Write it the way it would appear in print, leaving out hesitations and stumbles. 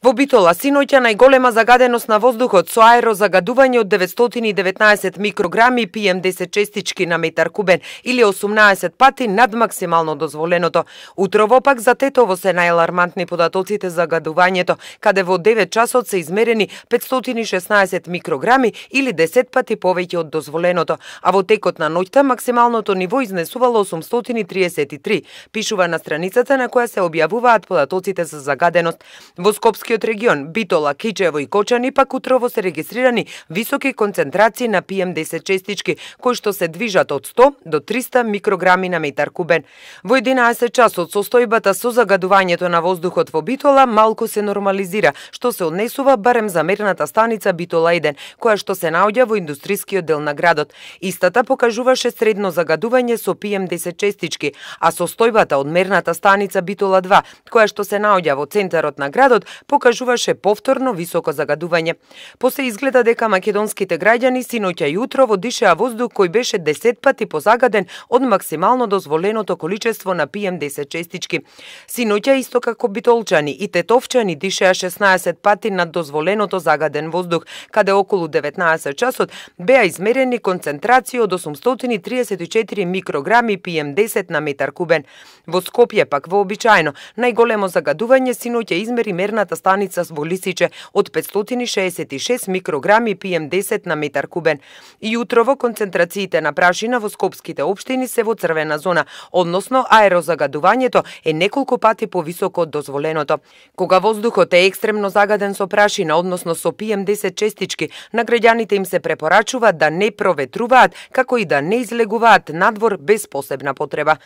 Во Битола синоќа најголема загаденост на воздухот со аерозагадување од 919 микрограми PM10 честички на метар кубен или 18 пати над максимално дозволеното. Утрово пак за Тетово се најалармантни податоците за загадувањето, каде во 9 часот се измерени 516 микрограми или 10 пати повеќе од дозволеното, а во текот на ноќта максималното ниво изнесувало 833, пишува на страницата на која се објавуваат податоците за загаденост. Во Скопскиот регион, Битола, Кичево и Кочани пак утрово се регистрирани високи концентрации на PM10 честички, кои што се движат од 100 до 300 микрограми на метар кубен. Во 11 часот состојбата со загадувањето на воздухот во Битола малку се нормализира, што се однесува барем за мерната станица Битола 1, која што се наоѓа во индустрискиот дел на градот. Истата покажуваше средно загадување со PM10 честички, а состојбата од мерната станица Битола 2, која што се наоѓа во центарот на градот, покажуваше повторно високо загадување. После изгледа дека македонските граѓани синоќа и утрово дишеа воздух кој беше 10 пати позагаден од максимално дозволеното количество на PM10 честички. Синоќа исто како битолчани и тетовчани дишеа 16 пати над дозволеното загаден воздух, каде околу 19 часот беа измерени концентрации од 834 микрограми PM10 на метар кубен. Во Скопје пак вообичаено најголемо загадување синоќа измери мерната станица во Лисиче од 566 микрограми PM10 на метар кубен. И утрово концентрациите на прашина во скопските општини се во црвена зона, односно аерозагадувањето е неколку пати повисоко од дозволеното. Кога воздухот е екстремно загаден со прашина, односно со PM10 честички, на граѓаните им се препорачува да не проветруваат, како и да не излегуваат надвор без посебна потреба.